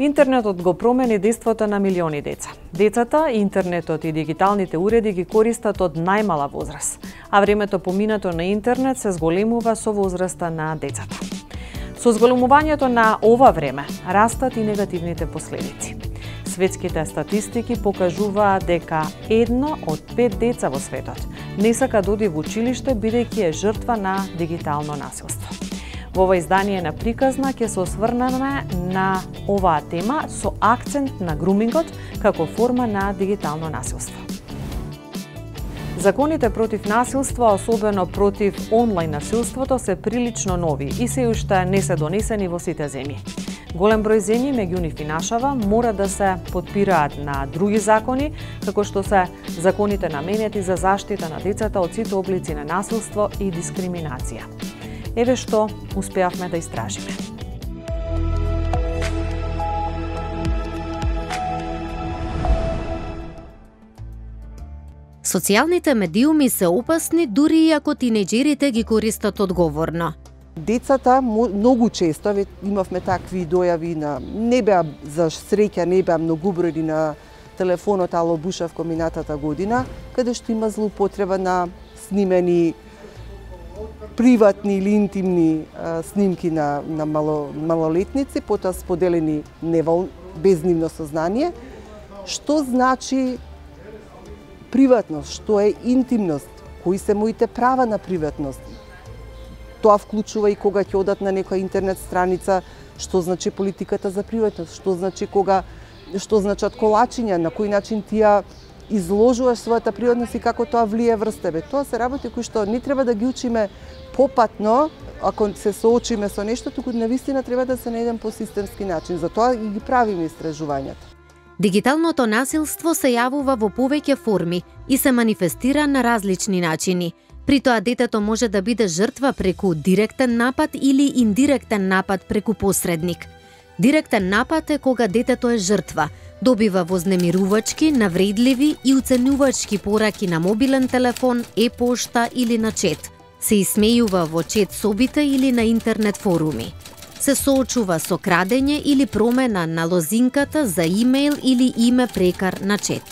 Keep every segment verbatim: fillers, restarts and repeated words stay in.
Интернетот го промени дејството на милиони деца. Децата, интернетот и дигиталните уреди ги користат од најмала возраст, а времето поминато на интернет се зголемува со возраста на децата. Со зголемувањето на ова време растат и негативните последици. Светските статистики покажуваат дека едно од пет деца во светот не сака да оди во училиште бидејќи е жртва на дигитално насилство. Во ова издание на Приказна ќе се осврнеме на оваа тема со акцент на грумингот како форма на дигитално насилство. Законите против насилство, особено против онлайн насилството, се прилично нови и се уште не се донесени во сите земји. Голем број земји, меѓу нив и нашава, мора да се потпираат на други закони, како што се законите наменети за заштита на децата од сите облици на насилство и дискриминација. Еве што успеавме да истражиме. Социјалните медиуми се опасни дури и ако тинеџерите ги користат одговорно. Децата многу често, имавме такви дојави, на не беа за среќа, не беа многубројни на телефонот Ало Бушавко минатата година, каде што има злоупотреба на снимени приватни или интимни а, снимки на, на мало, малолетници, потоа споделени невол, без нивно сознание. Што значи приватност? Што е интимност? Кои се моите права на приватност? Тоа вклучува и кога ќе одат на некоја интернет страница, што значи политиката за приватност, што значи кога, што значат колачиња, на кој начин ти ја изложуваш својата приватност и како тоа влие врз тебе. Тоа се работи кои што не треба да ги учиме попатно, ако се соочиме со нешто, туку навистина треба да се на еден посистемски начин. Затоа и ги правиме истражувањата. Дигиталното насилство се јавува во повеќе форми и се манифестира на различни начини. При тоа детето може да биде жртва преку директен напад или индиректен напад преку посредник. Директен напад е кога детето е жртва, добива вознемирувачки, навредливи и уценувачки пораки на мобилен телефон, е-пошта или на чет. Се исмејува во чет собите или на интернет форуми. Се соочува со крадење или промена на лозинката за имејл или име прекар на чет.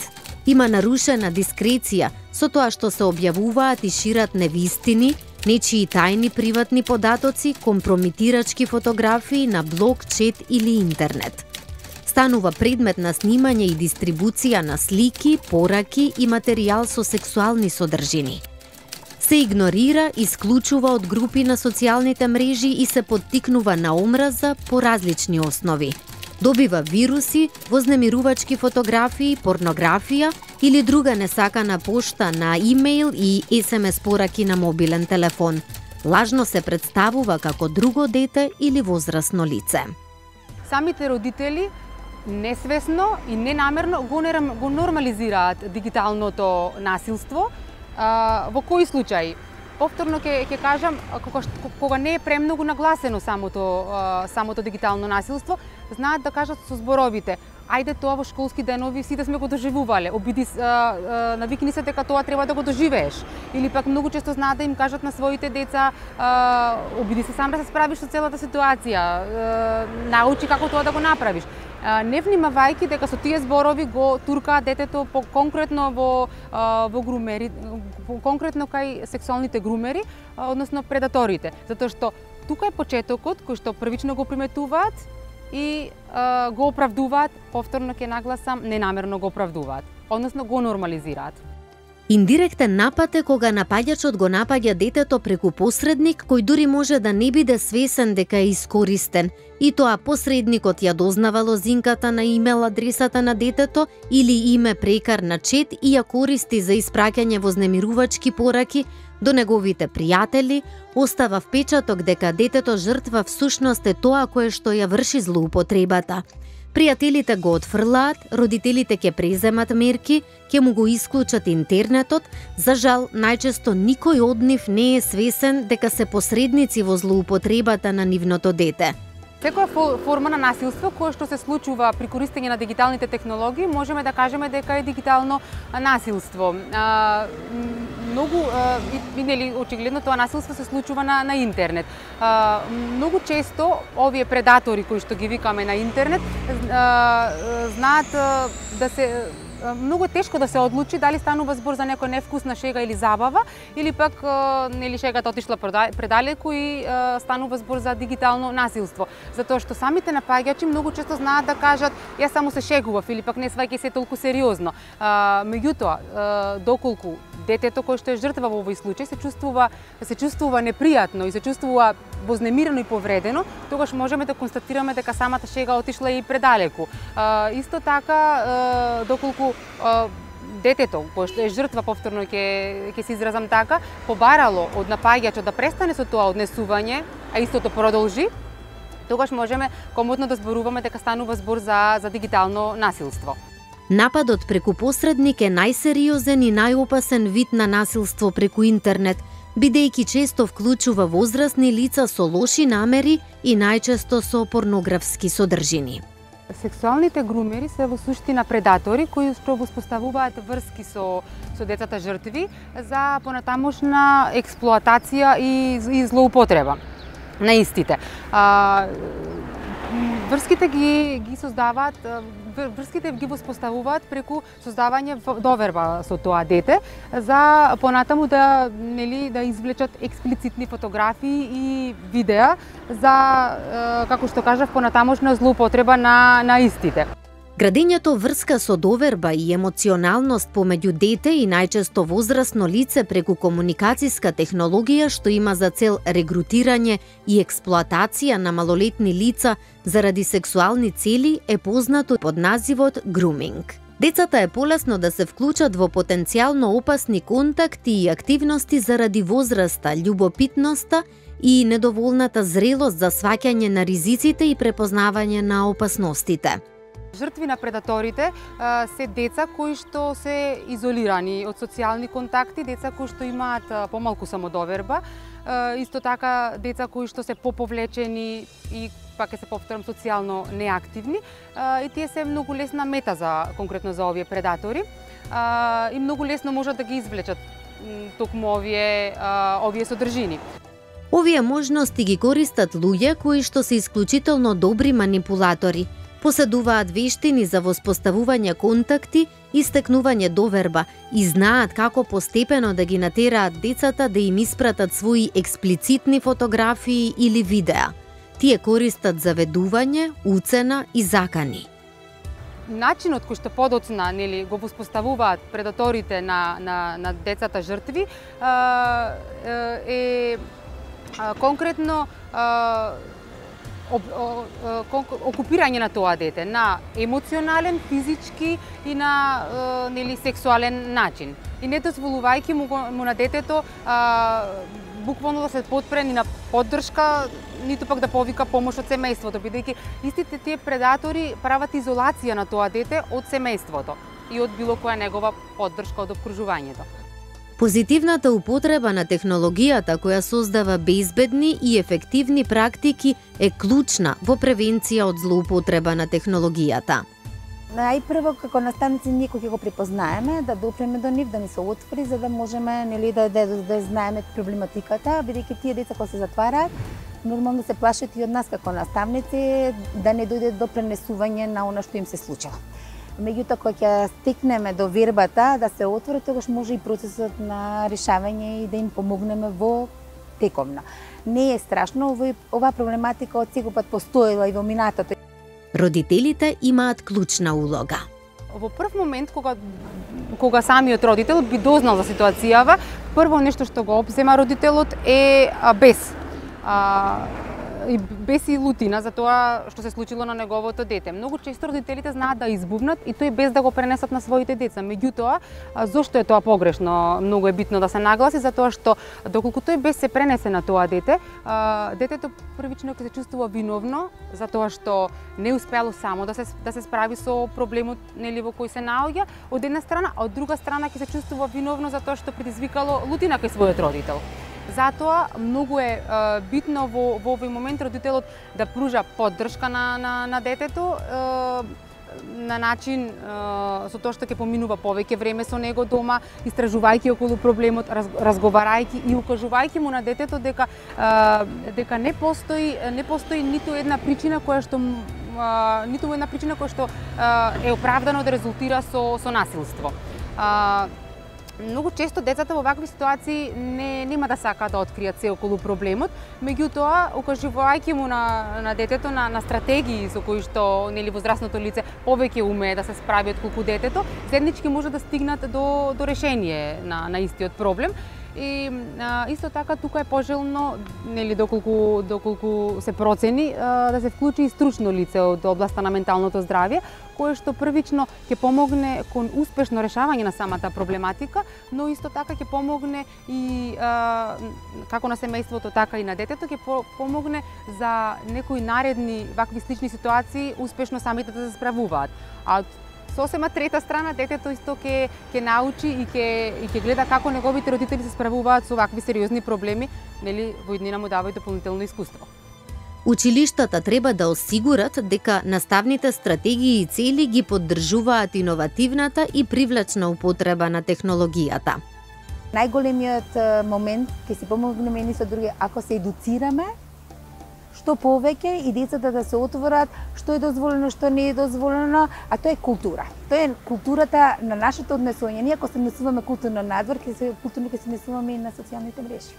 Има нарушена дискреција со тоа што се објавуваат и шират невистини, нечии тајни приватни податоци, компромитирачки фотографии на блог, чет или интернет. Станува предмет на снимање и дистрибуција на слики, пораки и материјал со сексуални содржини. Се игнорира, исклучува од групи на социјалните мрежи и се поттикнува на омраза по различни основи. Добива вируси, вознемирувачки фотографии, порнографија или друга несакана пошта на имејл и ес ем ес пораки на мобилен телефон. Лажно се представува како друго дете или возрасно лице. Самите родители несвесно и ненамерно го, го нормализираат дигиталното насилство. А, во кои случаи? Повторно ќе ќе кажам, кога, кога не е премногу нагласено самото а, самото дигитално насилство, знаат да кажат со зборовите: ајде тоа во школски денови сите сме го доживувале, обиди а, а, навикни се дека тоа треба да го доживееш. Или пак многу често знаат да им кажат на своите деца: а, обиди се сам да се справиш со целата ситуација, а, научи како тоа да го направиш. Не внимавајќи дека со тие зборови го туркаат детето по конкретно во во грумери, конкретно кај сексуалните грумери, односно предаторите, затоа што тука е почетокот кој што првично го приметуваат и а, го оправдуваат, повторно ќе нагласам, ненамерно го оправдуваат, односно го нормализираат. Индиректен напад е кога напаѓачот го напаѓа детето преку посредник кој дури може да не биде свесен дека е искористен, и тоа посредникот ја дознава лозинката на имејл адресата на детето или име прекар на чет и ја користи за испраќање вознемирувачки пораки до неговите пријатели, остава впечаток дека детето жртва всушност е тоа кое што ја врши злоупотребата. Пријателите го отфрлаат, родителите ќе преземат мерки, ќе му го исклучат интернетот. За жал, најчесто никој од нив не е свесен дека се посредници во злоупотребата на нивното дете. Секоја форма на насилство кое што се случува при користење на дигиталните технологии, можеме да кажеме дека е дигитално насилство. А, многу и нели очигледно тоа насилство се случува на на интернет. А, многу често овие предатори кои што ги викаме на интернет а, знаат да се многу тешко да се одлучи дали станува збор за некоја невкусна шега или забава, или пак нели шегата отишла предалеку и станува збор за дигитално насилство. Затоа што самите напаѓачи многу често знаат да кажат јас само се шегував или пак не сваќај се толку сериозно. Меѓутоа, доколку детето кое што е жртва во овој случај се чувствува се чувствува непријатно и се чувствува вознемирено и повредено, тогаш можеме да констатираме дека самата шега отишла и предалеку. Исто така, доколку детето кое што е жртва, повторно ќе ќе се изразам така, побарало од напаѓачот да престане со тоа однесување, а истото продолжи, тогаш можеме комотно да зборуваме дека станува збор за за дигитално насилство. Нападот преку посредник е најсериозен и најопасен вид на насилство преку интернет, бидејќи често вклучува возрастни лица со лоши намери и најчесто со порнографски содржини. Сексуалните грумери се во суштина предатори кои што воспоставуваат врски со со децата жртви за понатамошна експлоатација и, и злоупотреба на истите. А, врските ги ги создаваат врските ги воспоставуваат преку создавање доверба со тоа дете за понатаму да нели да извлечат експлицитни фотографии и видеа за како што кажав понатамошна злоупотреба на на истите. Градењето врска со доверба и емоционалност помеѓу дете и најчесто возрасно лице преку комуникацијска технологија што има за цел регрутирање и експлоатација на малолетни лица заради сексуални цели е познато под називот груминг. Децата е полесно да се вклучат во потенцијално опасни контакти и активности заради возраста, љубопитноста и недоволната зрелост за сваќање на ризиците и препознавање на опасностите. Жртви на предаторите се деца кои што се изолирани од социјални контакти, деца кои што имаат помалку самодоверба, исто така деца кои што се поповлечени и пак ќе се повторам социјално неактивни, и тие се многу лесна мета за конкретно за овие предатори и многу лесно можат да ги извлечат токму овие овие содржини. Овие можности ги користат луѓе кои што се исклучително добри манипулатори. Поседуваат вештини за воспоставување контакти и стекнување доверба и знаат како постепено да ги натераат децата да им испратат своји експлицитни фотографии или видеа. Тие користат заведување, уцена и закани. Начинот кој што подоцна нели го воспоставуваат предаторите на на на децата жртви е конкретно окупирање на тоа дете на емоционален, физички и на нели сексуален начин. И не дозволувајќи му, му на детето а, буквално да се потпре ни на поддршка, ниту пак да повика помош од семејството, бидејќи истите тие предатори прават изолација на тоа дете од семејството и од било која негова поддршка од опкружувањето. Позитивната употреба на технологијата која создава безбедни и ефективни практики е клучна во превенција од злоупотреба на технологијата. Најпрво како наставници ние кои ќе го препознаеме, да допреме до нив, да ни се отвори за да можеме нели да да, да знаеме проблематиката, бидејќи тие деца кога се затвараат, нормално се плашат и од нас како наставници да не дојде до пренесување на она што им се случило. Меѓутоа, кога ќе стигнеме до вербата да се отвори, тогаш може и процесот на решавање и да им помогнеме во тековна. Не е страшно, оваа проблематика од секогаш постоела и во минатото. Родителите имаат клучна улога. Во прв момент, кога, кога самиот родител би дознал за ситуацијава, прво нешто што го обзема родителот е бес. А, и без и лутина за тоа што се случило на неговото дете. Многу често родителите знаат да избувнат и тој без да го пренесат на своите деца. Меѓутоа, зошто е тоа погрешно? Многу е битно да се нагласи затоа што доколку тој без се пренесе на тоа дете, детето првично ќе се чувствува виновно за тоа што не успеало само да се да се справи со проблемот нели во кој се наоѓа од една страна, а од друга страна ќе се чувствува виновно за тоа што предизвикало лутина кај својот родител. Затоа многу е битно во, во овој момент родителот да пружа поддршка на, на, на детето, на начин со тоа што ќе поминува повеќе време со него дома, истражувајќи околу проблемот, разговарајќи и укажувајќи му на детето дека дека не постои не постои ниту една причина која што ниту една причина која што е оправдано да резултира со со насилство. Многу често децата во вакви ситуации не нема да сакаат да откријат се околу проблемот, меѓутоа укажувајќи му на на детето на на стратегии со кои што нели возрастното лице повеќе умее да се справи отколку детето, заеднички може да стигнат до до решение на на истиот проблем. И а, исто така тука е пожелно, нели доколку доколку се процени, а, да се вклучи и стручно лице од областа на менталното здравје, кое што првично ќе помогне кон успешно решавање на самата проблематика, но исто така ќе помогне и а, како на семејството, така и на детето, ќе помогне за некои наредни вакви слични ситуации успешно самите да се справуваат. А сосема трета страна, детето исто ќе ќе научи и ќе и ќе гледа како неговите родители се справуваат со вакви сериозни проблеми, нели во иднина му дава и дополнително искуство. Училиштата треба да осигурат дека наставните стратегии и цели ги поддржуваат иновативната и привлечна употреба на технологијата. Најголемиот момент ќе си помогнеме едни со други ако се едуцираме што повеќе и децата да се отворат што е дозволено, што не е дозволено, а тоа е култура. Тоа е културата на нашето однесување. Ние ако се однесуваме културно надвор, ќе се културно ќе се однесуваме и на социјалните мрежи.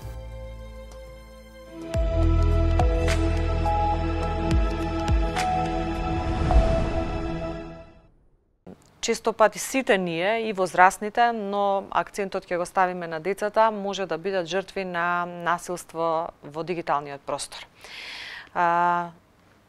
Често пати сите ние и возрастните, но акцентот ќе го ставиме на децата, може да бидат жртви на насилство во дигиталниот простор. А,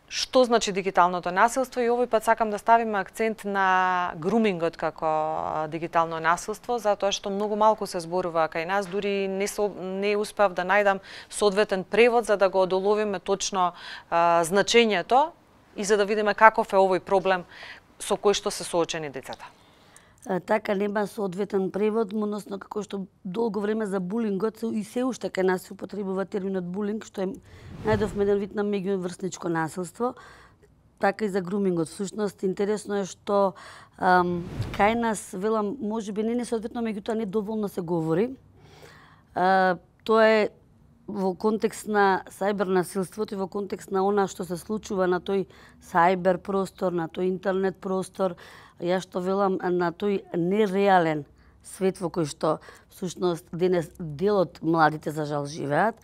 што значи дигиталното насилство? И овој пат сакам да ставиме акцент на грумингот како дигитално насилство, затоа што многу малку се зборува кај нас, дури не, со, не успев да најдам соодветен превод за да го одоловиме точно а, значењето и за да видиме каков е овој проблем со кој што се соочени децата. Така нема соодветен превод, односно како што долго време за булингот и се уште кај нас се употребува терминот булинг, што е најдов еден вид на меѓуврсничко насилство, така и за грумингот. Всушност интересно е што ам, кај нас велам можеби не несоодветно, меѓутоа не доволно се говори. А, тоа е во контекст на сајбер насилството и во контекст на она што се случува на тој сајбер простор, на тој интернет простор, јас што велам на тој нереален свет во кој што всушност денес делот младите за жал живеат,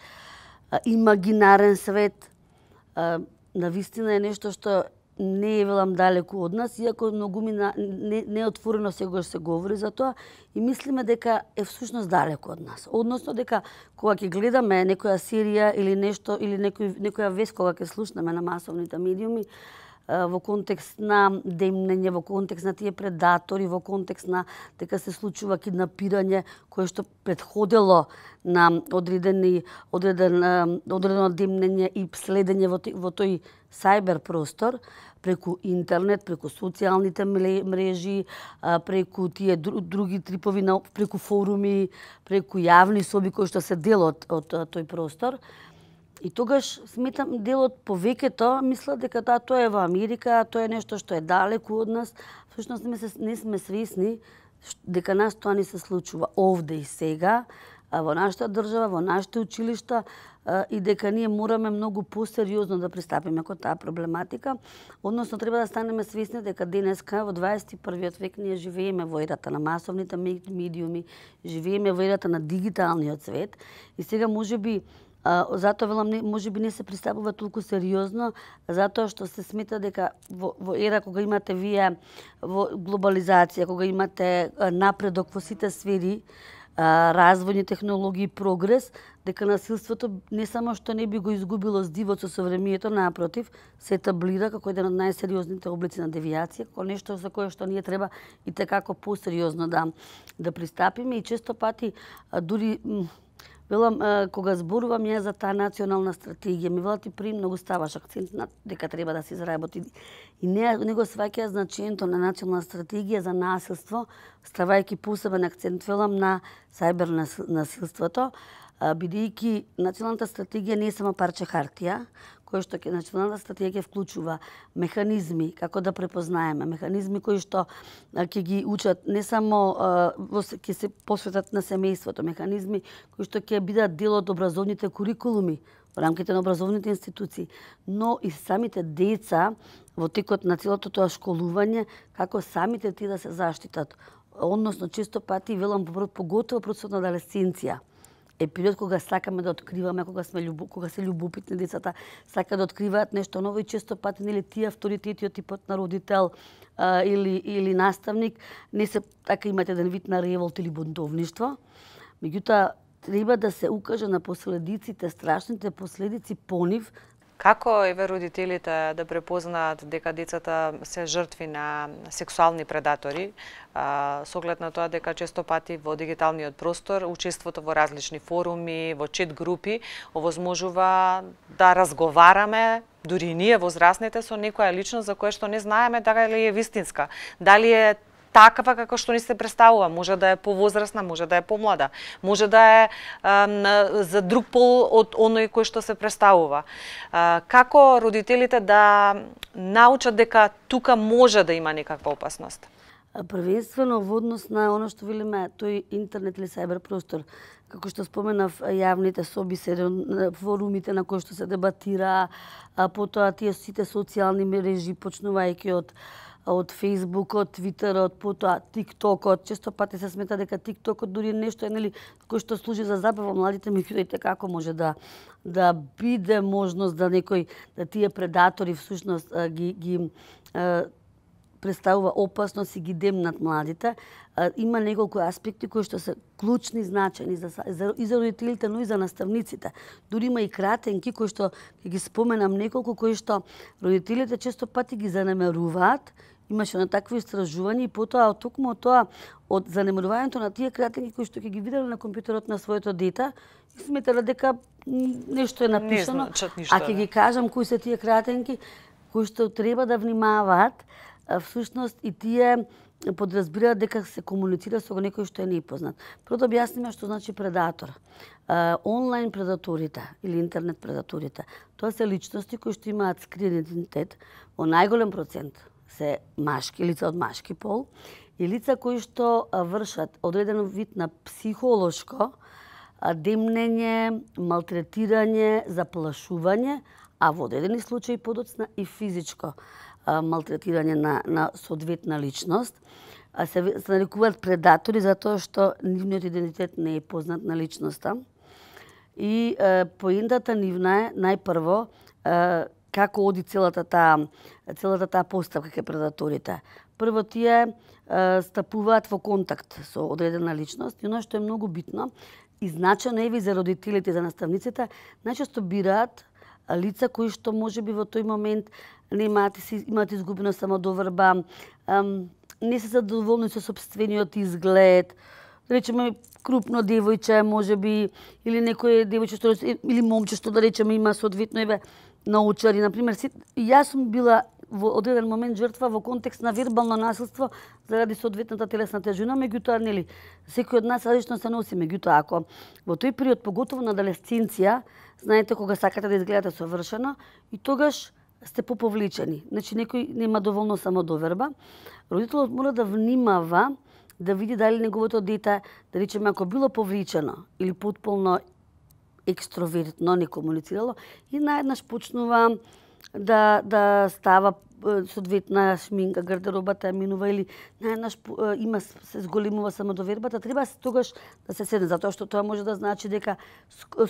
имагинарен свет, навистина е нешто што не е велам далеку од нас, иако многу ми не, не отворено сегогаш се говори за тоа и мислиме дека е всушност далеку од нас. Односно дека кога ќе гледаме некоја серија или нешто или некој некоја вест кога ќе слушнеме на масовните медиуми во контекст на демнење, во контекст на тие предатори, во контекст на дека се случува киднапирање кое што претходело на одредени одреден одредено демнење и следење во, во тој сајбер простор преку интернет, преку социјалните мрежи, преку тие други трипови, преку форуми, преку јавни соби кои што се дел од, од тој простор. И тогаш сметам делот повеќето мислат дека таа тоа е во Америка, тоа е нешто што е далеку од нас. Всушност не, не сме свесни дека нас тоа не се случува овде и сега, во нашата држава, во нашите училишта и дека ние мораме многу посериозно да пристапиме кон таа проблематика. Односно треба да станеме свесни дека денеска во дваесет и првиот век ние живееме во ерата на масовните медиуми, живееме во ерата на дигиталниот свет и сега можеби Uh, затоа велам не, можеби не се пристапува толку сериозно, затоа што се смета дека во, во ера кога имате вие во глобализација, кога имате uh, напредок во сите сфери, uh, развојни технологии, прогрес, дека насилството не само што не би го изгубило здивот со совремието, напротив, се етаблира како еден од најсериозните облици на девијација, како нешто за кое што ние треба и tekako посериозно да да пристапиме и често пати uh, дури велам, кога зборувам ја за таа национална стратегија, ми велат и при многу ставаш акцент на дека треба да се изработи. И не, не го сваќа значењето на национална стратегија за насилство, ставајќи посебен акцент, велам, на сајбер насилството. бидејќи националната стратегија не е само парче хартија, кој што ќе националната стратегија ќе вклучува механизми како да препознаеме, механизми кои што ќе ги учат не само ќе се посветат на семејството, механизми кои што ќе бидат дел од образовните курикулуми во рамките на образовните институции, но и самите деца во текот на целото тоа школување, како самите тие да се заштитат. Односно, често пати, велам, поготово процесот на адолесценција е период кога сакаме да откриваме, кога сме љубо, кога се љубопитни децата, сакаат да откриваат нешто ново и често пати нели тие авторитети од типот на родител а, или или наставник не се така имаат еден вид на револт или бунтовништво. Меѓутоа треба да се укаже на последиците, страшните последици по нив. Како еве родителите да препознаат дека децата се жртви на сексуални предатори, а, со оглед на тоа дека често пати во дигиталниот простор учеството во различни форуми, во чет групи овозможува да разговараме дури и ние возрастните со некоја личност за која што не знаеме дали е вистинска, дали е такава како што ни се представува, може да е повозрасна, може да е помлада, може да е а, за друг пол од оној кој што се представува. А, како родителите да научат дека тука може да има некаква опасност? Првенствено во однос на оно што велиме тој интернет или сајбер простор, како што споменав, јавните соби се форумите на кои што се дебатира, а потоа тие сите социјални мрежи почнувајќи од од Фејсбукот, Твитерот, потоа ТикТокот. Често пати се смета дека ТикТокот дури нешто е нели кој што служи за забава младите, меѓутоа како може да да биде можност да некој да тие предатори всушност ги ги е, представува опасност и ги демнат младите. Има неколку аспекти кои што се клучни, значени за, за, и за родителите, но и за наставниците. Дури има и кратенки кои што ги споменам неколку кои што родителите често пати ги занемеруваат. Имаше на такви истражувања и потоа од токму од тоа од занемерувањето на тие кратенки кои што ќе ги виделе на компјутерот на своето дете, и сметале дека нешто е напишано, а ќе ги кажам кои се тие кратенки кои што треба да внимаваат. Всушност и тие подразбираат дека се комуницира со некој што е непознат. Прво да објасниме што значи предатор. Онлайн предаторите или интернет предаторите, тоа се личности кои што имаат скриен идентитет, во најголем процент се машки, лица од машки пол, и лица кои што вршат одреден вид на психолошко демнење, малтретирање, заплашување, а во одредени случаи подоцна и физичко малтретирање на, на соодветна личност. А се, се нарекуваат предатори затоа што нивниот идентитет не е познат на личноста. И е, поентата нивна е најпрво е, како оди целата таа целата таа поставка кај предаторите. Прво тие е, стапуваат во контакт со одредена личност и оно што е многу битно и значено еве за родителите и за наставниците, најчесто бираат лица кои што можеби во тој момент не имаат, имаат изгубена самодоверба, не се задоволни со сопствениот изглед, да речеме крупно девојче, можеби, или некој девојче што или момче што да речеме има соодветно еве научари, на пример, јас сум била во одреден момент жртва во контекст на вербално насилство заради соодветната телесна тежина, меѓутоа нели секој од нас различно се носи, меѓутоа ако во тој период поготово на адолесценција, знаете кога сакате да изгледате совршено и тогаш сте поповлечени. Значи некој нема доволно самодоверба. Родителот мора да внимава да види дали неговото дете, да речеме ако било повлечено или потполно екстровертно, не комуницирало и наеднаш почнува да да става соодветна шминка, гардеробата ја минува или наеднаш има се зголемува самодовербата, треба тогаш да се седне, затоа што тоа може да значи дека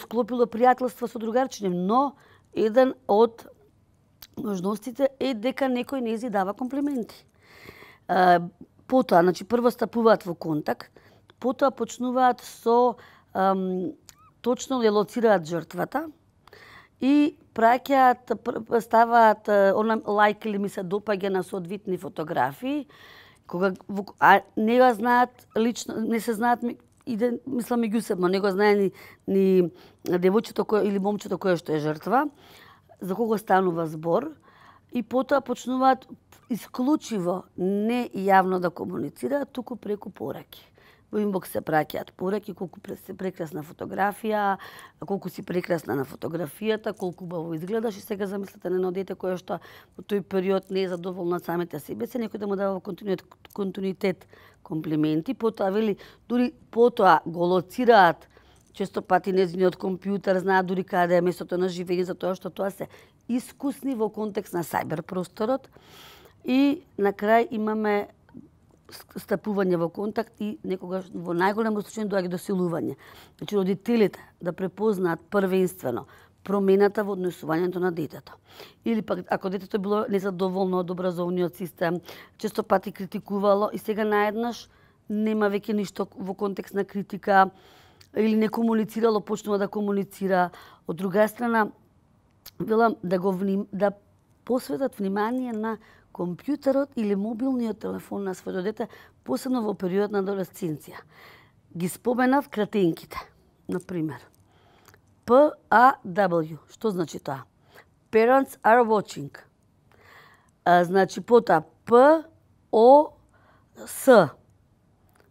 склопило пријателство со другарчиња, но еден од можностите е дека некој не зи дава комплименти. Потоа, значи прво стапуваат во контакт, потоа почнуваат со ам, точно ја лоцираат жртвата и праќаат, ставаат она лајк или ми се допаѓа на соодветни фотографии, кога а не го знаат лично, не се знаат иде мислам меѓусебно, не го знае ни, ни девојчето кој или момчето кое што е жртва, за кого станува збор и потоа почнуваат исклучиво не јавно да комуницираат, туку преку пораки. Во инбокс се праќаат пораки, колку си прекрасна фотографија, колку си прекрасна на фотографијата, колку убаво изгледаш, и сега замислете на едно дете кое што во тој период не е задоволно од самите себе си, некој да му дава во континуитет, континуитет комплименти, потоа вели, дури потоа го лоцираат често пати нејзиниот компјутер, знаат дури каде е местото на живење, затоа што тоа се искусни во контекст на сајбер просторот. И на крај имаме стапување во контакт и некогаш во најголемо случај доаѓа до силување. Значи родителите да препознаат првенствено промената во однесувањето на детето. Или пак ако детето било незадоволно од образовниот систем, често пати критикувало и сега наеднаш нема веќе ништо во контекст на критика или не комуницирало, почнува да комуницира. Од друга страна, велам да го вним, да посветат внимание на компјутерот или мобилниот телефон на своето дете, посебно во период на адолесценција. Ги споменав кратенките, например. П А W, што значи тоа? Parents are watching. А, значи потоа П О С.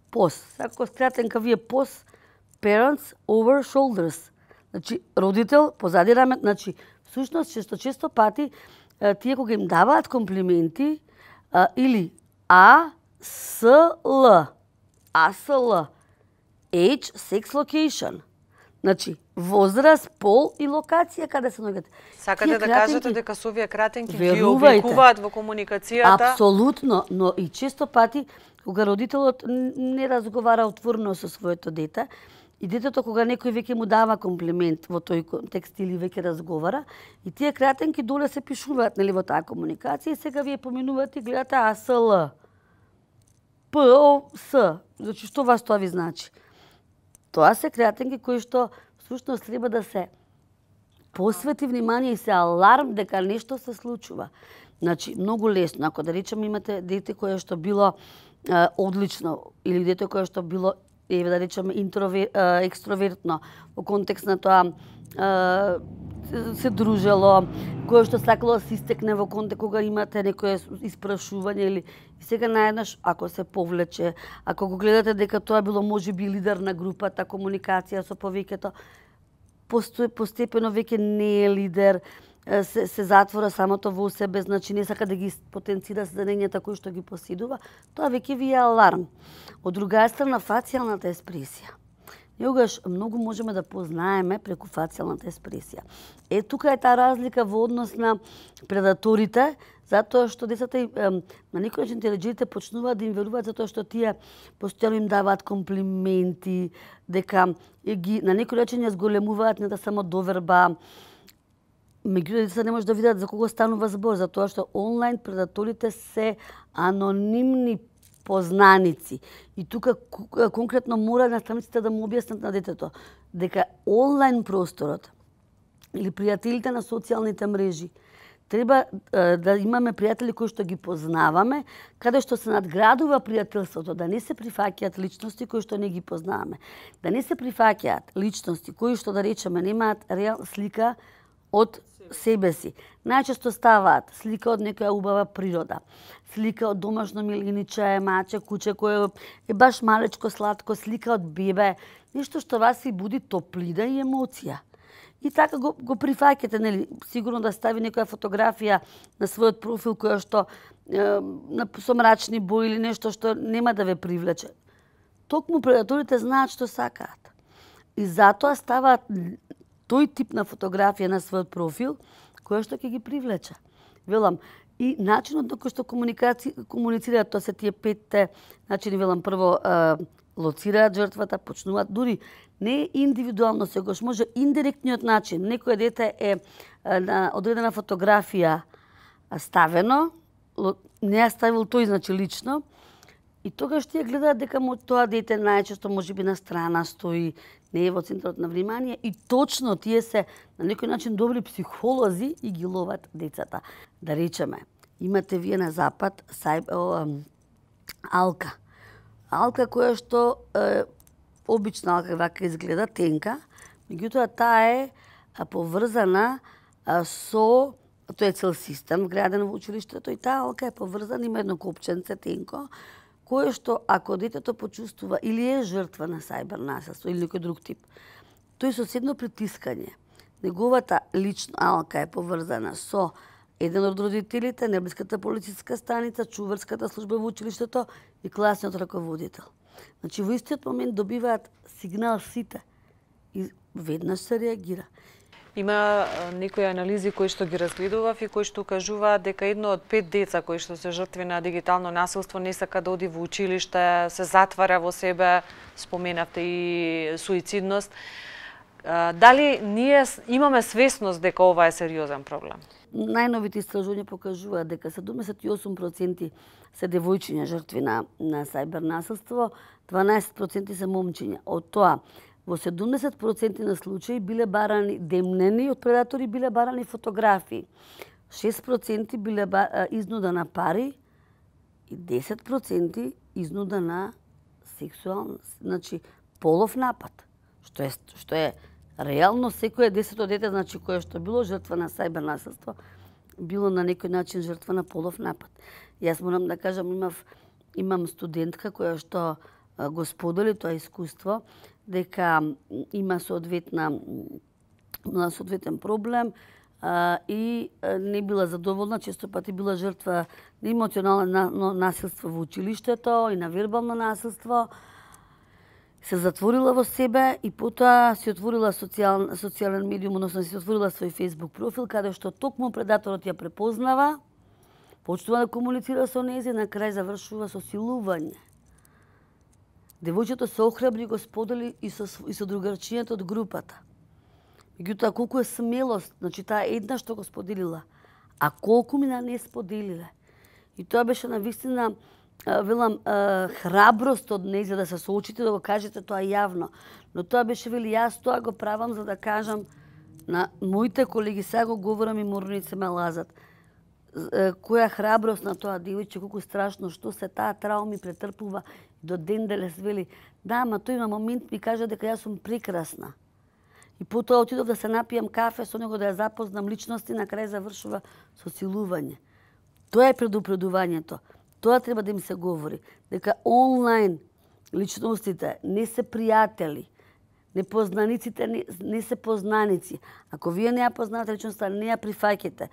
Пос. Сако скратенка вие пос. Parents over shoulders. Значи родител позади раме, значи всушност често често пати тие кога им даваат комплименти а, или А С Л, А С Л, Age, Sex, Location. Значи возраст, пол и локација каде се наоѓате. Сакате да кажете дека со овие кратенки ги обликуваат во комуникацијата? Апсолутно, но и често пати кога родителот не разговара отворено со своето дете, и детето кога некој веќе му дава комплимент во тој контекст или веќе разговара, и тие кратенки доле се пишуваат нели во таа комуникација, и сега вие поминувате и гледате А С Л, П О С. Значи што вас тоа ви значи? Тоа се кратенки кои што всушност треба да се посвети внимание и се аларм дека нешто се случува. Значи многу лесно, ако да речеме имате дете кое што било е, одлично или дете кое што било еве да речеме интровер, е, екстровертно во контекст на тоа е, се дружело, кое што сакало да се истекне во контекст кога имате некое испрашување или и сега наеднаш ако се повлече, ако го гледате дека тоа било можеби лидер на групата, комуникација со повеќето, постепено веќе не е лидер, се, се затвора самото во себе, значи не сака да ги потенцира знаењата кои што ги поседува, тоа веќе ви е аларм. Од друга страна, фацијалната еспресија. Јогаш многу можеме да познаеме преку фацијалната еспресија. Е, тука е таа разлика во однос на предаторите, затоа што децата на некој начин телеџерите почнуваат да им веруваат затоа што тие постојано им даваат комплименти, дека ги на некој начин ја зголемуваат не да само доверба. Меѓутоа децата не може да видат за кого станува збор, затоа што онлайн предаторите се анонимни познаници. И тука конкретно мора наставниците да му објаснат на детето дека онлайн просторот или пријателите на социјалните мрежи треба е, да имаме пријатели кои што ги познаваме, каде што се надградува пријателството, да не се прифаќаат личности кои што не ги познаваме, да не се прифаќаат личности кои што да речеме немаат реал слика од себе си. Најчесто ставаат слика од некоја убава природа, слика од домашно милиниче, маче, куче кое е баш малечко, сладко, слика од бебе, нешто што вас си буди топлина и емоција. И така го, го прифаќате, нели, сигурно да стави некоја фотографија на својот профил која што е, на, со мрачни бои или нешто што нема да ве привлече. Токму предаторите знаат што сакаат. И затоа ставаат тој тип на фотографија на својот профил која што ќе ги привлече. Велам, и начинот на кој што комуницираат, тоа се тие петте начини, велам, прво е, лоцираат жртвата, почнуваат дури не индивидуално, сегаш може индиректниот начин. Некој дете е на одредена фотографија ставено, не ја ставил тој, значи лично, и тогаш тие гледаат дека тоа дете најчесто можеби на страна стои, не е во центарот на внимание, и точно тие се на некој начин добри психолози и ги ловат децата. Да речеме, имате вие на запад сај, о, алка. Алка која што е, обична алка вака изгледа, тенка, меѓутоа таа е поврзана со, тоа е цел систем вграден во училиштето, и таа алка е поврзана, има едно копченце тенко, кое што ако детето почувствува или е жртва на сајбер насилство или некој друг тип, тој со седно притискање, неговата лична алка е поврзана со еден од родителите, неблиската полициска станица, чуварската служба во училиштето и класниот раководител. Значи, во истиот момент добиваат сигнал сите и веднаш се реагира. Има некои анализи кои што ги разгледував и кои што кажуваат дека едно од пет деца кои што се жртви на дигитално насилство не сака да оди во училиште, се затвара во себе, споменавте и суицидност. Дали ние имаме свесност дека ова е сериозен проблем? Најновите истражувања покажуваат дека седумдесет и осум проценти се девојчиња жртви на, на сајбер насилство, дванаесет проценти се момчиња. Од тоа, во седумдесет проценти на случаи биле барани демнени од предатори, биле барани фотографии. шест проценти биле изнуда на пари и десет проценти изнуда на сексуална, значи полов напад, што е што е реално секое десето дете, значи кое што било жртва на сајбер насилство, било на некој начин жртва на полов напад. Јас морам да кажам, имав имам студентка која што го сподели тоа искуство, дека има соодветна на соодветен проблем а, и а, не била задоволна, често пати била жртва на емоционално насилство во училиштето и на вербално насилство. Се затворила во себе и потоа си отворила социјал, социјален медиум, односно си отворила свој Facebook профил, каде што токму предаторот ја препознава, почнува да комуницира со нејзе, на крај завршува со силување. Девојчето се охрабри, го сподели и со, и со другарчињата од групата. Меѓутоа, колку е смелост, значи таа една што го споделила, а колку мина не споделиле. И тоа беше навистина, велам, храброст од нејзе да се соочите, да го кажете тоа јавно. Но тоа беше, вели, јас тоа го правам за да кажам на моите колеги, сега го говорам и морници ме лазат, која храброст на тоа девојче, колку страшно, што се таа трауми претрпува до ден денес, вели, да, ма тој на момент ми кажа дека јас сум прекрасна. И потоа отидов да се напијам кафе со него, да ја запознам личности, на крај завршува со силување. Тоа е предупредувањето. Тоа треба да им се говори. Дека онлайн личностите не се пријатели, непознаниците не, не се познаници. Ако вие не ја познавате личноста, не ја прифаќате.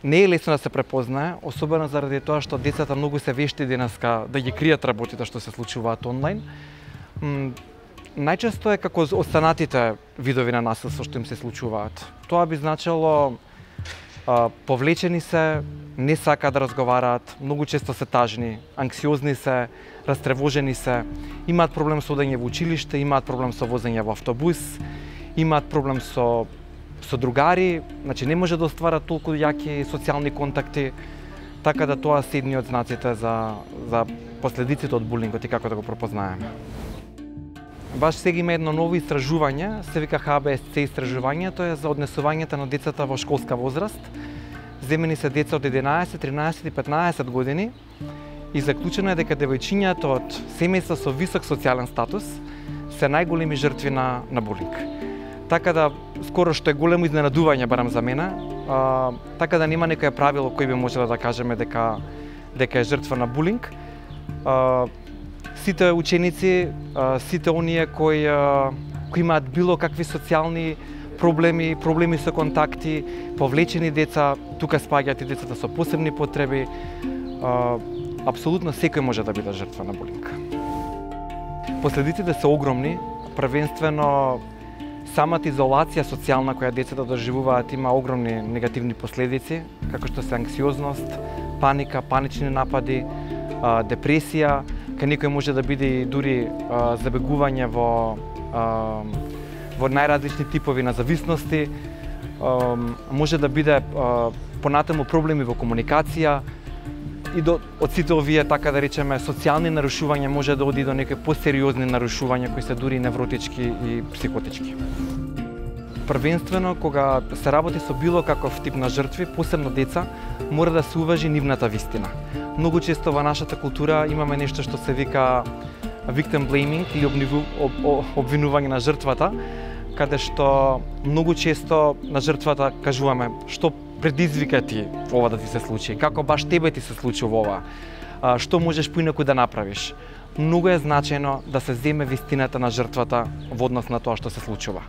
Не е лесно да се препознае, особено заради тоа што децата многу се вешти денеска да ги кријат работите што се случуваат онлайн. М, најчесто е како останатите видови на насилство што им се случуваат. Тоа би значило а, повлечени се, не сакаат да разговараат, многу често се тажни, анксиозни се, растревожени се, имаат проблем со одење во училиште, имаат проблем со возење во автобус, имаат проблем со со другари, значи не може да остварат толку јаки социјални контакти, така да тоа се едни од знаците за, за последиците од булингот и како да го пропознаеме. Баш сега има едно ново истражување, се вика Х Б С Ц истражување, тоа е за однесувањето на децата во школска возраст. Земени се деца од единаесет, тринаесет и петнаесет години и заклучено е дека девојчињата од семејства со висок социјален статус се најголеми жртви на, на булинг. Така да, скоро што е големо изненадување, барам за мене, а, така да нема некој правило кој би можело да кажеме дека, дека е жртва на булинг. А, сите ученици, а, сите оние кои, а, кои имаат било какви социјални проблеми, проблеми со контакти, повлечени деца, тука спаѓаат и децата со посебни потреби, а, апсолутно секој може да биде жртва на булинг. Последиците се огромни, првенствено самата изолација социјална која децата доживуваат има огромни негативни последици, како што се анксиозност, паника, панични напади, депресија, кај некој може да биде дури забегување во во најразлични типови на зависности, може да биде понатаму проблеми во комуникација и до, од сите овие, така да речеме, социјални нарушувања може да оди до некои посериозни нарушувања кои се дури невротички и психотички. Првенствено, кога се работи со било каков тип на жртви, посебно деца, мора да се уважи нивната вистина. Многу често во нашата култура имаме нешто што се вика victim blaming или обвинување на жртвата, каде што многу често на жртвата кажуваме што предизвика ти ова да ти се случи, како баш тебе ти се случува ова, што можеш поинаку да направиш. Многу е значајно да се земе вистината на жртвата во однос на тоа што се случува.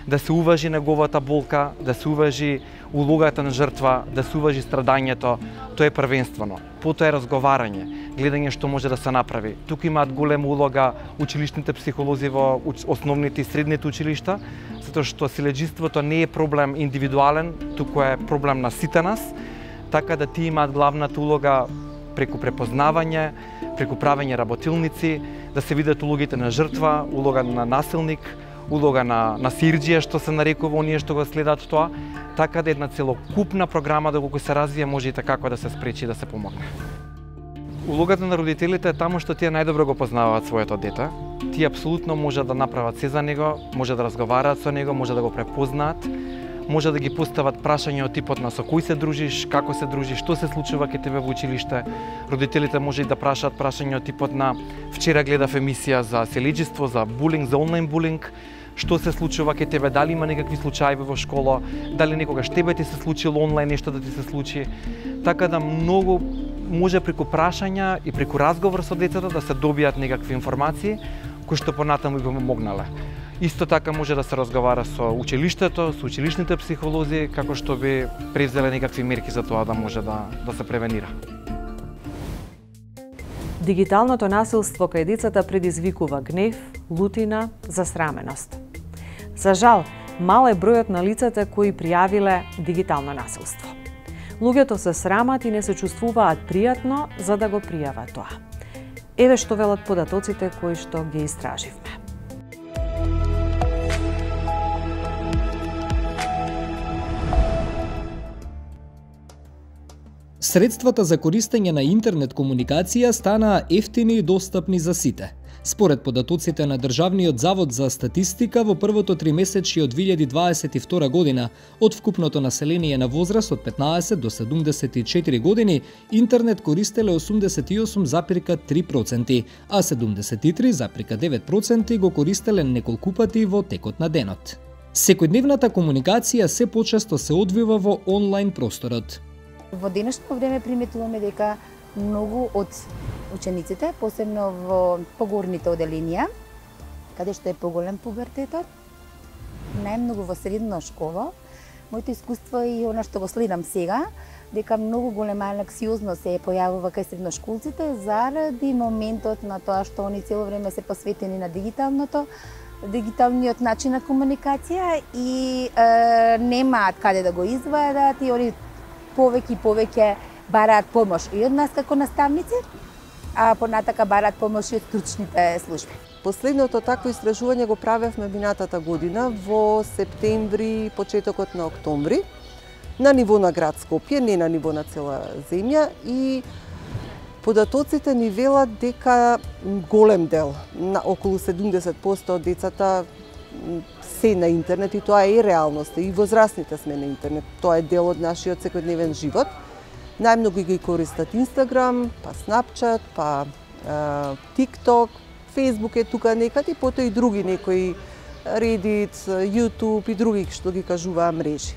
Да се уважи неговата болка, да се уважи улогата на жртва, да се уважи страдањето, тоа е првенствено. Потоа е разговарање, гледање што може да се направи. Тука имаат голема улога училишните психолози во основните и средните училишта, затоа што силеџиството не е проблем индивидуален, туку е проблем на сите нас, така да ти имаат главната улога преку препознавање, преку правење работилници, да се видат улогите на жртва, улога на насилник, улога на, на сирџија, што се нарекува оние што го следат тоа, така да една целокупна програма доколку се развие може и така како да се спречи да се помогне. Улогата на родителите е таму што тие најдобро го познаваат своето дете. Тие апсолутно може да направат се за него, може да разговараат со него, може да го препознаат, може да ги постават прашања од типот на со кој се дружиш, како се дружиш, што се случува кај тебе во училиште. Родителите може и да прашаат прашања од типот на вчера гледав емисија за селеџиство, за булинг, за онлайн булинг, што се случува кај тебе, дали има некакви случаи во школа, дали некогаш тебе ти се случило онлайн нешто да ти се случи. Така да многу може преку прашања и преку разговор со децата да се добијат некакви информации кои што понатаму би помогнале. Исто така може да се разговара со училиштето, со училишните психолози, како што би превзеле некакви мерки за тоа да може да, да се превенира. Дигиталното насилство кај децата предизвикува гнев, лутина, засраменост. За жал, мал е бројот на лицата кои пријавиле дигитално насилство. Луѓето се срамат и не се чувствуваат пријатно за да го пријават тоа. Еве што велат податоците кои што ги истраживме. Средствата за користење на интернет комуникација станаа ефтини и достапни за сите. Според податоците на Државниот завод за статистика, во првото тримесечје од две илјади дваесет и втора година, од вкупното население на возраст од петнаесет до седумдесет и четири години, интернет користеле осумдесет и осум запирка три проценти, а седумдесет и три запирка девет проценти го користеле неколку пати во текот на денот. Секојдневната комуникација се почесто се одвива во онлайн просторот. Во денешно време приметуваме дека многу од учениците, посебно во погорните оделенија, каде што е поголем пубертетот, најмногу во средна школа, моето искуство и она што го следам сега, дека многу голема анксиозност се појавува кај средношколците заради моментот на тоа што они цело време се посветени на дигиталното, дигиталниот начин на комуникација и е, немаат каде да го извадат и они повеќе и повеќе бараат помош и од нас како наставници, а понатака бараат помош и од стручните служби. Последното такво истражување го правевме минатата година во септември, почетокот на октомври, на ниво на град Скопје, не на ниво на цела земја, и податоците ни велат дека голем дел, на околу седумдесет проценти од децата се на интернет и тоа е реалноста, и возрастните сме на интернет, тоа е дел од нашиот секојдневен живот. Најмногу ги користат Инстаграм, па Снапчат, па е, ТикТок, Фейсбук е тука некад и потоа и други некои Редит, Јутуб и други што ги кажуваа мрежи.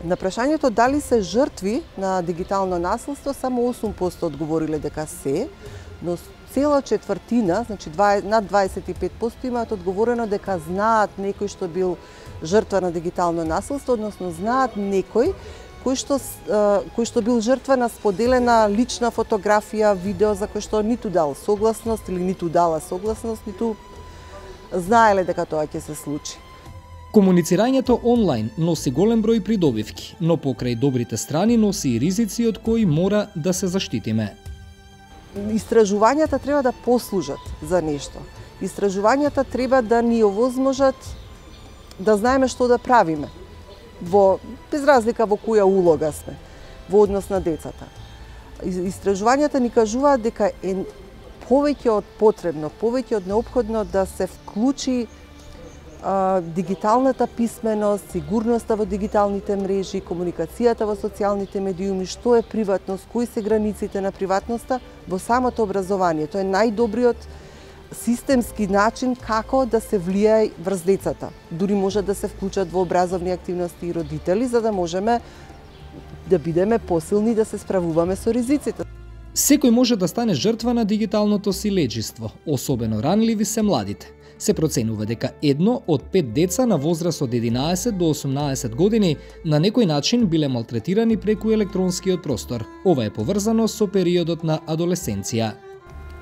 На прашањето дали се жртви на дигитално насилство, само осум проценти одговориле дека се, но цела четвртина, значи над дваесет и пет проценти имаат одговорено дека знаат некој што бил жртва на дигитално насилство, односно знаат некој кој што, кој што бил жртва на споделена лична фотографија, видео за кој што ниту дал согласност или ниту дала согласност, ниту знаеле дека тоа ќе се случи. Комуницирањето онлайн носи голем број придобивки, но покрај добрите страни носи и ризици од кои мора да се заштитиме. Истражувањата треба да послужат за нешто. Истражувањата треба да ни овозможат да знаеме што да правиме, во без разлика во која улога сме во однос на децата. Истражувањата ни кажуваат дека е повеќе од потребно, повеќе од неопходно да се вклучи а, дигиталната писменост, сигурноста во дигиталните мрежи, комуникацијата во социјалните медиуми, што е приватност, кои се границите на приватноста во самото образование. Тоа е најдобриот системски начин како да се влијае врз децата. Дури може да се вклучат во образовни активности и родители, за да можеме да бидеме посилни да се справуваме со ризиците. Секој може да стане жртва на дигиталното силеџиство, особено ранливи се младите. Се проценува дека едно од пет деца на возраст од единаесет до осумнаесет години на некој начин биле малтретирани преку електронскиот простор. Ова е поврзано со периодот на адолесценција.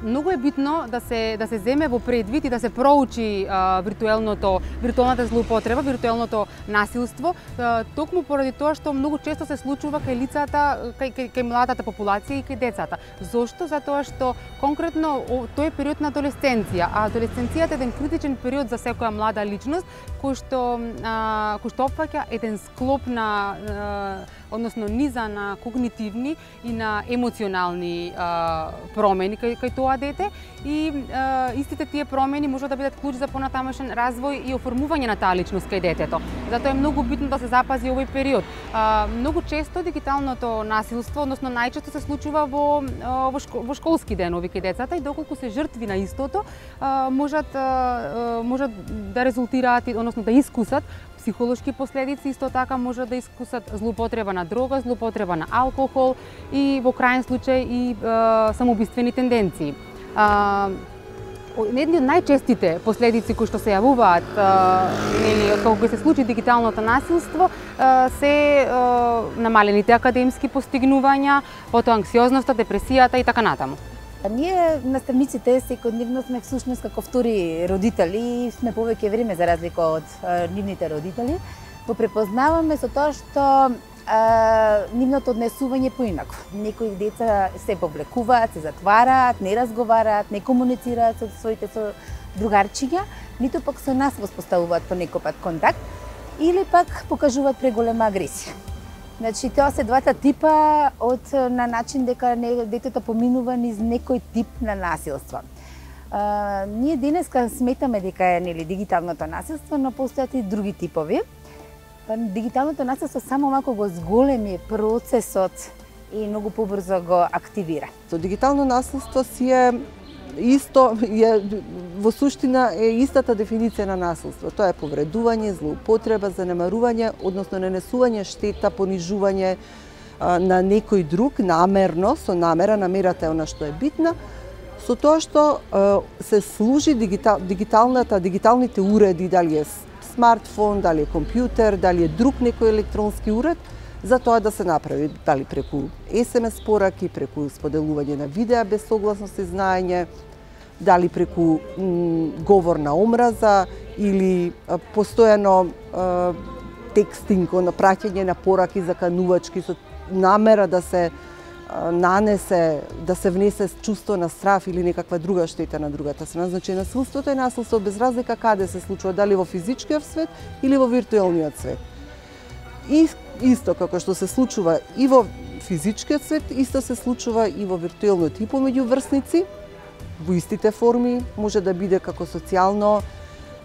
Многу е битно да се да се земе во предвид и да се проучи а, виртуелното виртуелната злоупотреба, виртуелното насилство, а, токму поради тоа што многу често се случува кај лицата, кај, кај, кај младата популација и кај децата. Зошто? Затоа што конкретно тој е период на адолесценција, а адолесценцијата е еден критичен период за секоја млада личност кој што а, кој што опфаќа еден склоп на а, односно низа на когнитивни и на емоционални а, промени кај, кај тоа дете и а, истите тие промени можат да бидат клуч за понатамошен развој и оформување на таа личност кај детето. Затоа е многу битно да се запази овој период. А, многу често дигиталното насилство, односно најчесто се случува во во, шко, во школски денови кај децата и доколку се жртви на истото, а, можат а, можат да резултираат, односно да искусат психолошки последици, исто така може да искусат злоупотреба на дрога, злоупотреба на алкохол и во крајен случај и е, самоубиствени тенденции. Едни од најчестите последици кои што се јавуваат нели кога се случи дигиталното насилство се е, намалените академски постигнувања, потоа анксиозноста, депресијата и така натаму. Ние наставниците секојдневно сме всушност како втори родители и сме повеќе време за разлика од а, нивните родители. Го препознаваме со тоа што а, нивното однесување поинако. Некои деца се повлекуваат, се затвараат, не разговараат, не комуницираат со своите со другарчиња, ниту пак со нас воспоставуваат понекогаш контакт или пак покажуваат преголема агресија. Значи, тоа се двата типа од на начин дека не, детето поминува низ некој тип на насилство. А, ние денеска сметаме дека е нели дигиталното насилство, но постојат и други типови. Дигиталното насилство само малку го зголеми процесот и многу побрзо го активира. Со дигитално насилство си е исто е во суштина е истата дефиниција на насилство. Тоа е повредување, злоупотреба, занемарување, односно нанесување штета, понижување а, на некој друг намерно, со намера, намерата е она што е битна, со тоа што а, се служи дигитал, дигиталната, дигиталните уреди, дали е смартфон, дали е компјутер, дали е друг некој електронски уред, за тоа да се направи, дали преку ес ем ес пораки, преку споделување на видеа без согласност и знаење, дали преку говор на омраза или а, постојано а, текстинг, на праќање на пораки заканувачки со намера да се а, нанесе, да се внесе чувство на страв или некаква друга штета на другата страна. Значи насилството е насилство без разлика каде се случува, дали во физичкиот свет или во виртуелниот свет. И исто како што се случува и во физичкиот свет, исто се случува и во виртуелниот и помеѓу врсници, во истите форми, може да биде како социјално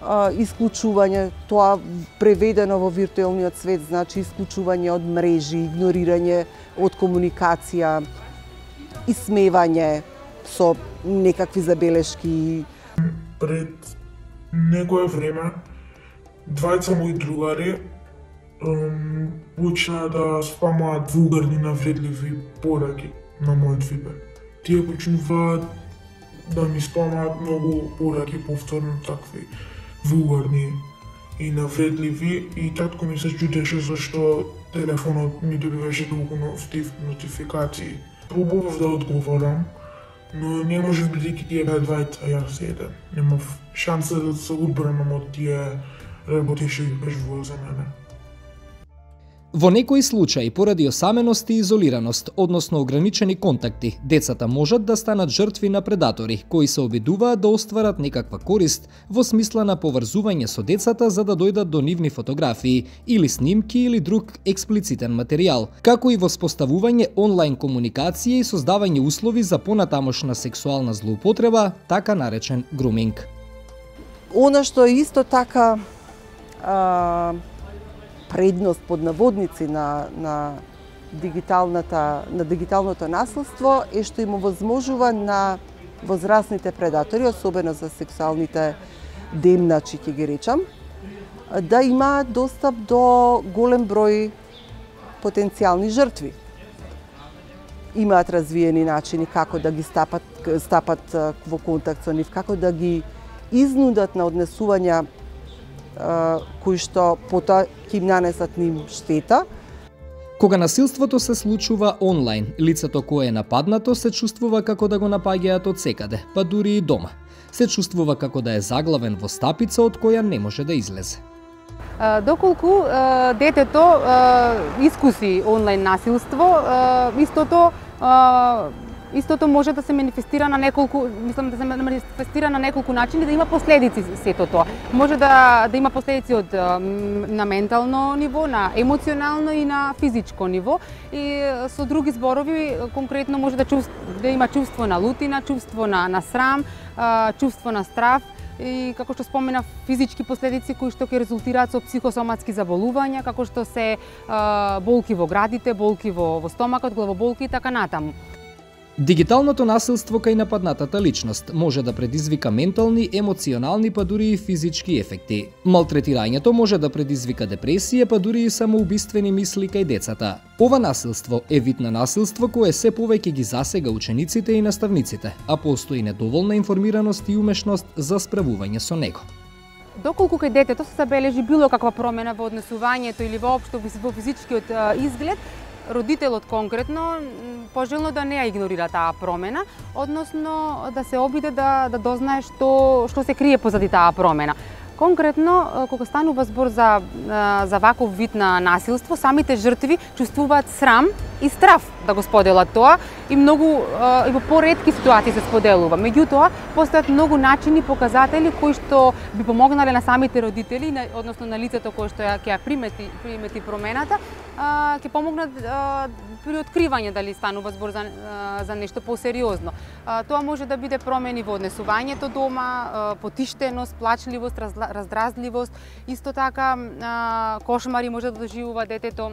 а, исклучување, тоа преведено во виртуелниот свет значи исклучување од мрежи, игнорирање од комуникација, исмевање со некакви забелешки. Пред некое време двајца мои другари почна да спамаат вулгарни навредливи пораки на мојот вибер. Тие почнуваат да ми спамаат многу пораки повторно такви вулгарни и навредливи и татко ми се чудеше зашто телефонот ми добиваше толку нотификации. Пробував да одговорам, но не можев бидејќи тие беа двајца, јас еден. Немав шанса да се одбранам од тие работеше и бежува за мене. Во некои случаи, поради осаменост и изолираност, односно ограничени контакти, децата можат да станат жртви на предатори, кои се обидуваат да остварат некаква корист во смисла на поврзување со децата за да дојдат до нивни фотографии или снимки или друг експлицитен материјал, како и воспоставување онлайн комуникација и создавање услови за понатамошна сексуална злоупотреба, така наречен груминг. Она што е исто така а... предност под наводници на, на, дигиталната, на дигиталното насилство е што им овозможува на возрастните предатори, особено за сексуалните демначи, ќе ги речам, да имаат достап до голем број потенцијални жртви. Имаат развиени начини како да ги стапат, стапат во контакт со нив, како да ги изнудат на однесувања кои што потоа ќе им нанесат ним штета. Кога насилството се случува онлайн, лицето кое е нападнато се чувствува како да го напаѓаат од секаде, па дури и дома. Се чувствува како да е заглавен во стапица од која не може да излезе. Доколку детето искуси онлайн насилство, истото Истото може да се манифестира на неколку, мислам да се манифестира на неколку начини, да има последици сето тоа. Може да да има последици од на ментално ниво, на емоционално и на физичко ниво. И со други зборови конкретно може да чувств, да има чувство на лутина, чувство на на срам, чувство на страв и како што спомена физички последици кои што ќе резултираат со психосоматски заболувања, како што се болки во градите, болки во во стомакот, главоболки и така натаму. Дигиталното насилство кај нападнатата личност може да предизвика ментални, емоционални па дури и физички ефекти. Малтретирањето може да предизвика депресија па дури и самоубиствени мисли кај децата. Ова насилство е вид на насилство кое се повеќе ги засега учениците и наставниците, а постои недоволна информираност и умешност за справување со него. Доколку кај детето се забележи било каква промена во однесувањето или воопшто во физичкиот изглед, родителот конкретно пожелно да не ја игнорира таа промена, односно да се обиде да да дознае што што се крие позади таа промена. Конкретно, кога станува збор за за ваков вид на насилство, самите жртви чувствуваат срам и страв да го споделат тоа и многу и во поретки ситуации се споделува. Меѓутоа, постојат многу начини, показатели кои што би помогнале на самите родители, односно на лицето кое што ја ќе ја примети примети промената, ќе помогнат при откривање дали станува збор за за нешто посериозно. Тоа може да биде промени во однесувањето дома, потиштеност, плачливост, раздразливост, исто така кошмари може да доживува детето,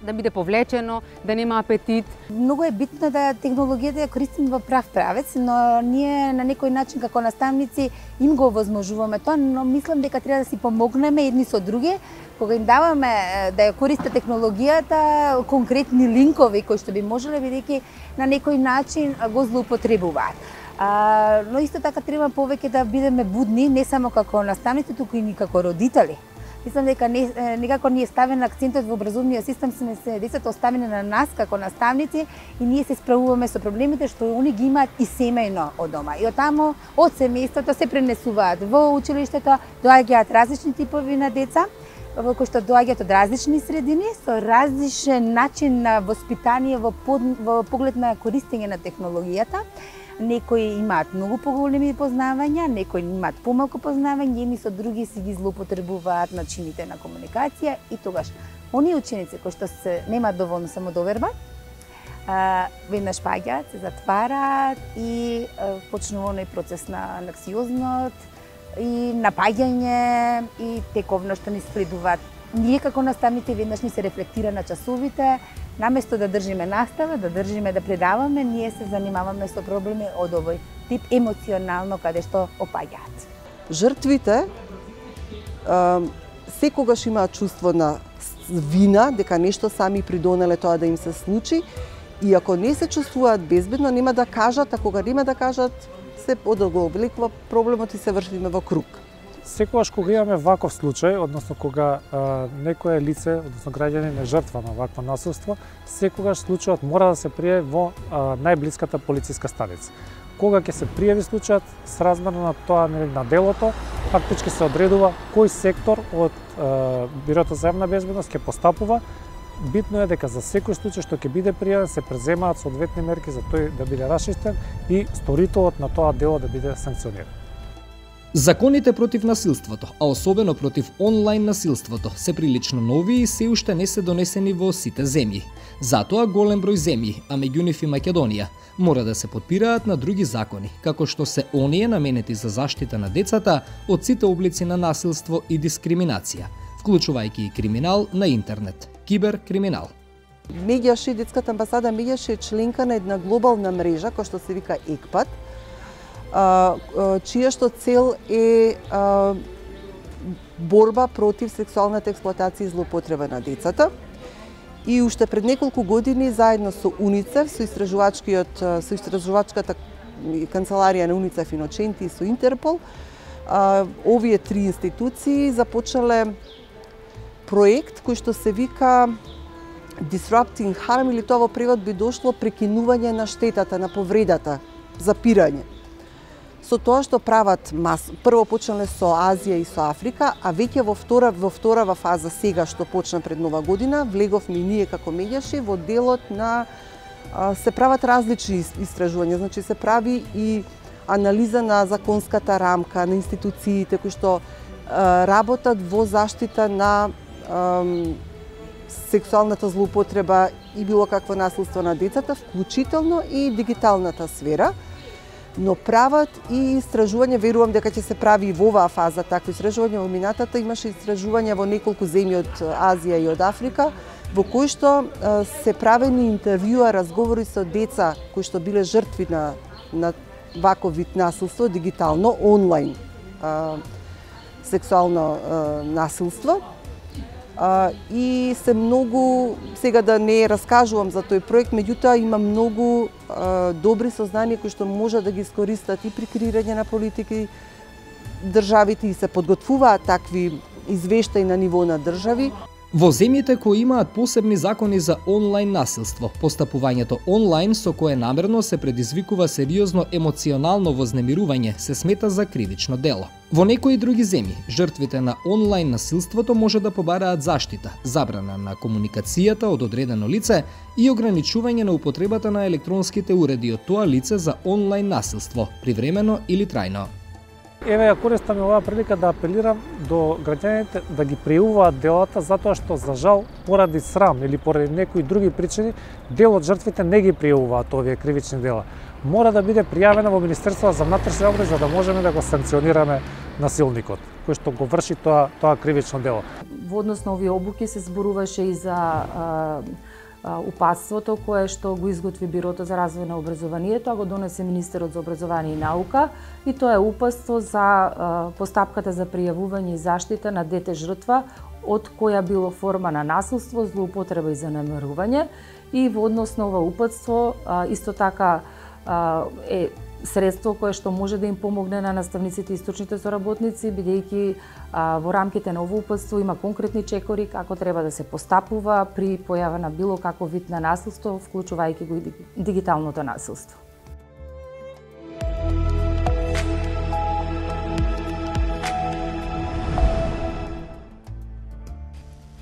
да биде повлечено, да нема апетит. Многу е битно да технологијата ја користиме во прав правец, но ние на некој начин како наставници им го овозможуваме тоа, но мислам дека треба да си помогнеме едни со други, кога им даваме да ја користат технологијата, конкретни линкови кои што би можеле бидејќи на некој начин го злоупотребуваат. А, но исто така треба повеќе да бидеме будни, не само како наставници, туку и како родители. Мислам дека не, некако ни е ставен акцентот во образовниот систем, сме се децата оставени на нас како наставници и ние се справуваме со проблемите што они ги имаат и семејно од дома. И оттамо од семејството се пренесуваат во училиштето, доаѓаат различни типови на деца, во кои што доаѓаат од различни средини со различен начин на воспитание во, под, во поглед на користење на технологијата. Некои имаат многу поголеми познавања, некои имаат помалку познавање, едни со други си ги злоупотребуваат начините на комуникација и тогаш оние ученици кои што се немаат доволно самодоверба, веднаш паѓаат, се затвараат и почнува оној процес на анксиозност и напаѓање и тековно што ни следуваат. Ние како наставници веднаш ни се рефлектира на часовите, наместо да држиме настава, да држиме да предаваме, ние се занимаваме со проблеми од овој тип емоционално каде што опаѓаат. Жртвите секогаш имаат чувство на вина дека нешто сами придонеле тоа да им се случи и ако не се чувствуваат безбедно нема да кажат, а кога нема да кажат се одоголекува проблемот и се вршиме во круг. Секогаш кога имаме ваков случај, односно кога а, некое лице, односно граѓанин е жртва на вакво насилство, секогаш случајот мора да се пријави во а, најблиската полициска станица. Кога ќе се пријави случајот, сразмерно на тоа на делото, фактички се одредува кој сектор од а, Бирото за јавна безбедност ќе постапува. Битно е дека за секој случај што ќе биде пријавен се преземаат соодветни мерки за тој да биде расчистен и сторителот на тоа дело да биде санкциониран. Законите против насилството, а особено против онлайн насилството, се прилично нови и се уште не се донесени во сите земји. Затоа голем број земји, а меѓу нив и Македонија, мора да се потпираат на други закони, како што се оние наменети за заштита на децата од сите облици на насилство и дискриминација, вклучувајќи и криминал на интернет, киберкриминал. Меѓаше детската амбасада меѓаше е членка на една глобална мрежа која што се вика ЕКПАТ, чија што цел е борба против сексуалната експлоатација и злоупотреба на децата. И уште пред неколку години заедно со УНИЦЕФ, со истражувачкиот со истражувачката канцеларија на УНИЦЕФ Иноченти и со Интерпол, овие три институции започнале проект кој што се вика Disrupting Harm, или тоа во превод би дошло прекинување на штетата, на повредата, запирање. Со тоа што прават мас... прво почнале со Азија и со Африка, а веќе во втора во вторава фаза сега што почна пред нова година, влеговме ние како медијаши во делот на се прават различни истражувања, значи се прави и анализа на законската рамка, на институциите кои што работат во заштита на сексуалната злоупотреба и било какво насилство на децата, вклучително и дигиталната сфера, но прават и истражување, верувам дека ќе се прави и во оваа фаза такви истражувања. Во минатата имаше истражувања во неколку земји од Азија и од Африка, во кои што се правени интервјуа, разговори со деца кои што биле жртви на, на ваков вид насилство, дигитално, онлайн а, сексуално а, насилство. А, и се многу, сега да не раскажувам за тој проект, меѓутоа има многу а, добри сознанија кои што може да ги искористат и при креирање на политики државите и се подготвуваат такви извештаи на ниво на држави. Во земјите кои имаат посебни закони за онлайн насилство, постапувањето онлайн со кое намерно се предизвикува сериозно емоционално вознемирување се смета за кривично дело. Во некои други земји, жртвите на онлайн насилството може да побараат заштита, забрана на комуникацијата од одредено лице и ограничување на употребата на електронските уреди од тоа лице за онлайн насилство, привремено или трајно. Еве ја користам оваа прилика да апелирам до граѓаните да ги пријавуваат делата, затоа што за жал поради срам или поради некои други причини дел од жртвите не ги пријавуваат овие кривични дела. Мора да биде пријавена во Министерството за внатрешни работи за да можеме да го санкционираме насилникот кој што го врши тоа тоа кривично дело. Во однос на овие обуки се зборуваше и за а, упатството кое што го изготви Бирото за развој на образованието, тоа го донесе Министерот за образование и наука, и тоа е упатство за а, постапката за пријавување и заштита на дете жртва од која било форма на насилство, злоупотреба и занемарување. И во однос на ова упатство а, исто така а, е средство кое што може да им помогне на наставниците и стручните соработници, бидејќи во рамките на ово упатство има конкретни чекори како треба да се постапува при појава на било каков вид на насилство, вклучувајќи го и дигиталното насилство.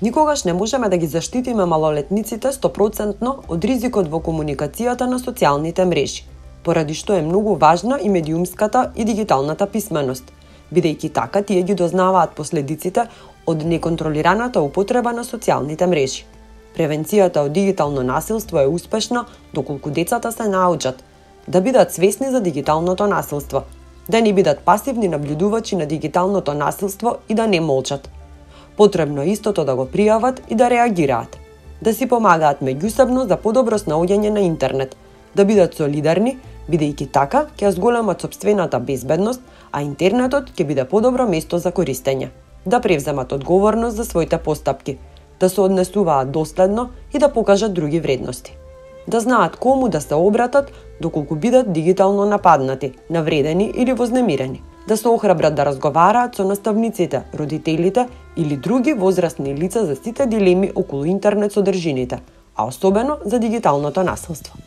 Никогаш не можеме да ги заштитиме малолетниците сто проценти од ризикот во комуникацијата на социјалните мрежи, поради што е многу важна и медиумската и дигиталната писменост, бидејќи така тие ги дознаваат последиците од неконтролираната употреба на социјалните мрежи. Превенцијата од дигитално насилство е успешна доколку децата се научат да бидат свесни за дигиталното насилство, да не бидат пасивни наблюдувачи на дигиталното насилство и да не молчат. Потребно е истото да го пријават и да реагираат, да си помагаат меѓусебно за подобро снаоѓање на интернет, да бидат солидарни, бидејќи така ќе зголемат сопствената безбедност, а интернетот ќе биде подобро место за користење, да превземат одговорност за своите постапки, да се однесуваат доследно и да покажат други вредности, да знаат кому да се обратат доколку бидат дигитално нападнати, навредени или вознемирени, да се охрабрат да разговараат со наставниците, родителите или други возрастни лица за сите дилеми околу интернет содржините, а особено за дигиталното насилство.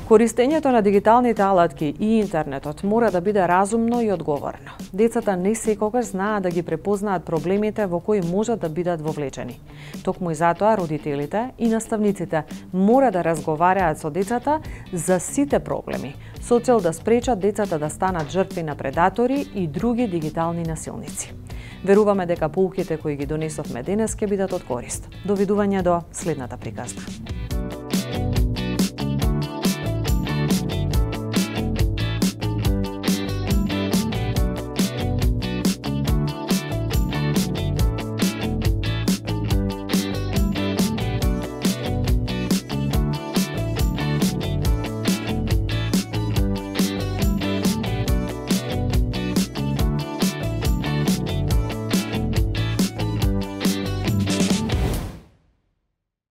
Користењето на дигиталните алатки и интернетот мора да биде разумно и одговорно. Децата не секогаш знаат да ги препознаат проблемите во кои можат да бидат вовлечени. Токму и затоа родителите и наставниците мора да разговараат со децата за сите проблеми, со цел да спречат децата да станат жртви на предатори и други дигитални насилници. Веруваме дека поуките кои ги донесовме денес ќе бидат од корист. Довидување до следната приказна.